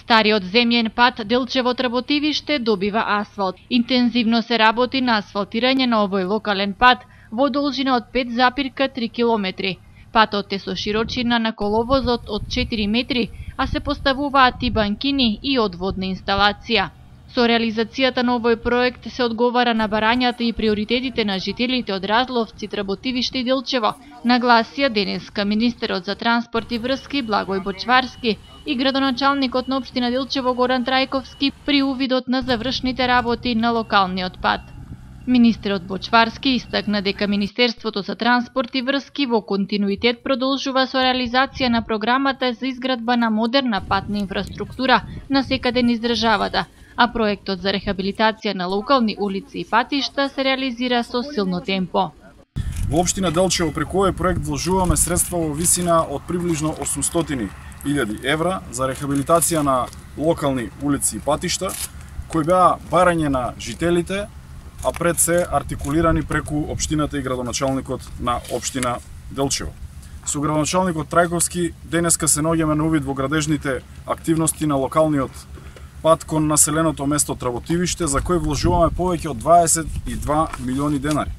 Стариот земјен пат Делчево-Трботивиште добива асфалт. Интензивно се работи на асфалтирање на овој локален пат во должина од 5,3 километри. Патот е со широчина на коловозот од 4 метри, а се поставуваат и банкини и одводна инсталација. Со реализацијата на овој проект се одговара на барањата и приоритетите на жителите од Разловци, Трботивиште и Делчево, нагласија денеска министерот за транспорт и врски Благој Бочварски и градоначалникот на општина Делчево Горан Трајковски при увидот на завршните работи на локалниот пат. Министерот Бочварски истакна дека Министерството за транспорт и врски во континуитет продолжува со реализација на програмата за изградба на модерна патна инфраструктура насекаде низ државата, а проектот за рехабилитација на локални улици и патишта се реализира со силно темпо. Во општина Делчево преку овој проект вложуваме средства во висина од приближно 800.000 евра за рехабилитација на локални улици и патишта, кои беа барање на жителите, а пред се артикулирани преку општината и градоначалникот на општина Делчево. Со градоначалникот Трајковски денеска се наоѓаме на увид во градежните активности на локалниот пат кон населеното место Трботивиште, за кој вложуваме повеќе од 22 милиони денари.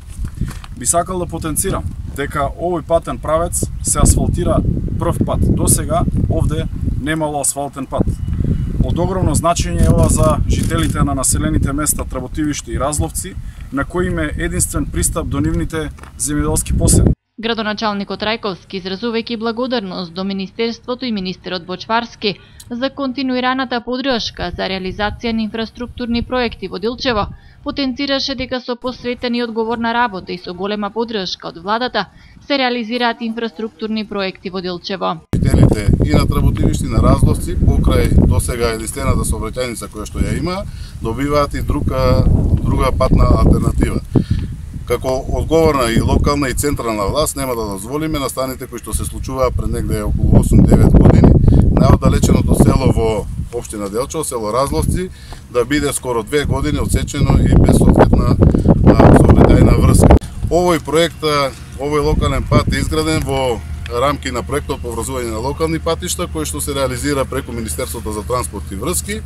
Би сакал да потенцирам дека овој патен правец се асфалтира прв пат. До сега овде немало асфалтен пат. Од огромно значење е ова за жителите на населените места Трботивиште и Разловци, на кои им е единствен пристап до нивните земјоделски посеви. Градоначалникот Трајковски, изразувајќи благодарност до Министерството и министерот Бочварски за континуираната поддршка за реализација на инфраструктурни проекти во Делчево, потенцираше дека со посветена и одговорна работа и со голема поддршка од владата се реализираат инфраструктурни проекти во Делчево. Жителите и на Трботивиште и на Разловци, покрај досега единствената сообраќајница која што ја има, добиваат и друга патна алтернатива. Како одговорна и локална и централна власт нема да дозволиме настаните кои што се случуваа пред негде околу 8-9 години, најоддалеченото село во општина Делчево, село Разловци, да биде скоро 2 години отсечено и без соодветна сообраќајна врска. Овој проект, овој локален пат е изграден во рамки на проектот по врзување на локални патишта, кој што се реализира преку Министерството за транспорт и врски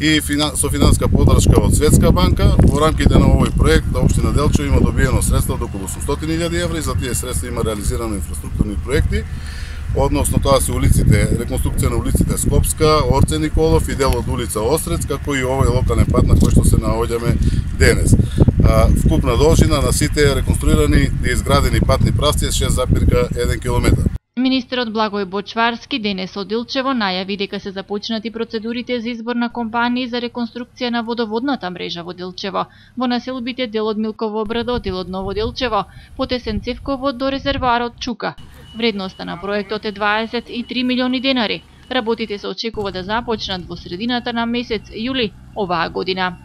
и со финанска поддршка од Светска банка. Во рамките на овој проект општина Делчево има добиено средства до околу 800.000 евра и за тие средства има реализирано инфраструктурни проекти. Односно тоа се улиците, реконструкција на улиците Скопска, Орце Николов и дел од улица Острец, како и овој локален пат на кој што се наоѓаме денес. Вкупна должина на сите реконструирани и изградени патни правци е 6,1 километар. Министерот Благој Бочварски денес од Делчево најави дека се започнати процедурите за избор на компании за реконструкција на водоводната мрежа во Делчево, во населбите дел од Милково Брадо, дел од Ново Делчево, потесен Цевково до резервоарот Чука. Вредноста на проектот е 23 милиони денари. Работите се очекува да започнат во средината на месец јули оваа година.